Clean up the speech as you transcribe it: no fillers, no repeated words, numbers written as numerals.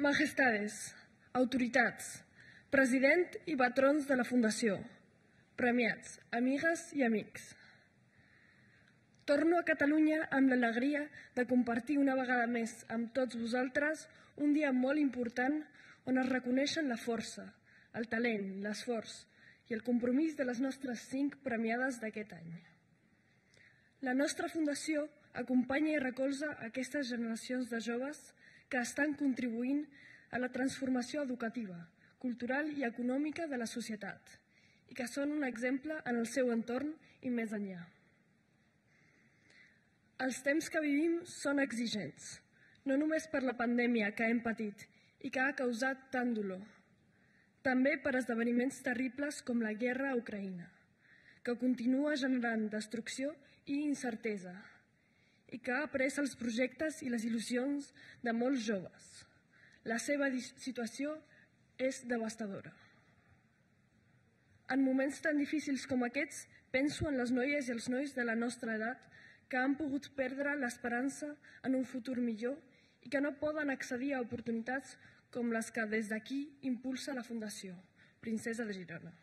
Majestades, autoritats, president i patrons de la Fundació, premiats, amigues i amics. Torno a Catalunya amb l'alegria de compartir una vegada més amb tots vosaltres un dia molt important on es reconeixen la força, el talent, l'esforç i el compromís de les nostres 5 premiades d'aquest any. La nostra Fundació acompanya i recolza aquestes generacions de joves que estan contribuint a la transformació educativa, cultural i econòmica de la societat i que són un exemple en el seu entorn i més enllà. Els temps que vivim són exigents, no només per la pandèmia que hem patit i que ha causat tant dolor, també per esdeveniments terribles com la guerra a Ucraïna, que continua generant destrucció i incertesa i que ha pres els projectes i les il·lusions de molts joves. La seva situació és devastadora. En moments tan difícils com aquests, penso en les noies i els nois de la nostra edat que han pogut perdre l'esperança en un futur millor i que no poden accedir a oportunitats com les que des d'aquí impulsa la Fundació Princesa de Girona.